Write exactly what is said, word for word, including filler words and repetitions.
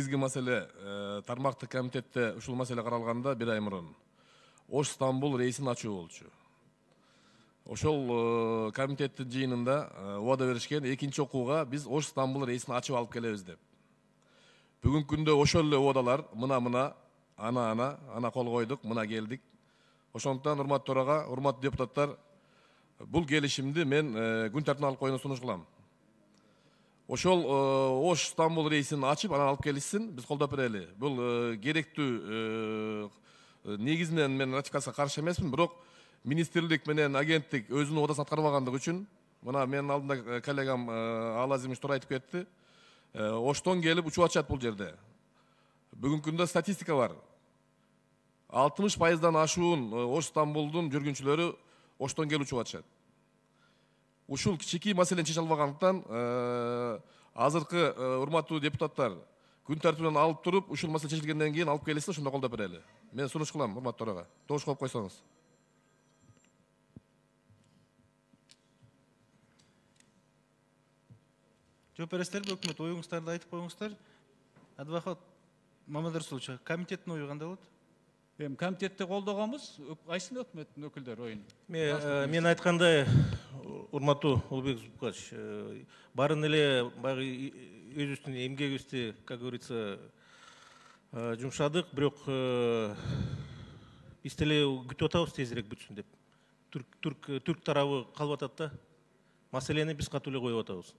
негизги маселе тармактык комитетте ушул маселе каралганда бир ай мурун Ош Стамбул рейсин ачуу болчу. Ошол комитеттин жыйынында убада беришкен экинчи окууга биз Ош Стамбул рейсин ачып алып келебиз деп. Бүгүнкү күндө ошол эле убадалар мына-мына, ана-ана, ана кол койдук, мына келдик. Ошондуктан урматтуу төрага, урматтуу депутаттар, бул келишимди мен күн тартибине алып коюуну сунуш кылам. Ошол Ош Стамбул рейсин ачып, анан алып келишсин, биз колдоп берели. Бул керектүү негизинен мен ратификацияга каршы эмесмин, бирок министрлик менен агенттик өзүнүн убадасын аткарбагандыгы үчүн, мына менин алдымда коллегам Алазимович туура айтып кетти. Оштон келип учуп атышат бул жерде. Бүгүнкү күндө статистика бар. алтымыш пайыздан ашуун Ош Стамбулдун жүргүнчүлөрү Оштон келип учуп атышат. Ушул кичинекей маселени чече албагандыктан азыркы урматтуу депутаттар күн тартибинен алып туруп, ушул маселе чечилгенден кийин алып келишсе, ошондо колдоп берели. Мен сунуш кылам, урматтуу төрага. Добуш коюп койсоңуз. Жооп бересиздерби, өкмөт, оюңуздарды айтып коюңуздар. Адвокат Мамадар Расулович, комитеттин ою кандай болот? Эми комитетте колдогонбуз, кайсын өкмөттүн өкүлдөрү оюн? Мен айткандай, урматтуу Улукбек Зубкач, барын эле баягы өзүбүздүн эмгегибизди, как говорится, жумшадык, бирок биз деле күтүп атабыз тезирээк бүтсүн деп. Түрк тарабы калып атат да. Маселени биз катуу эле коюп атабыз.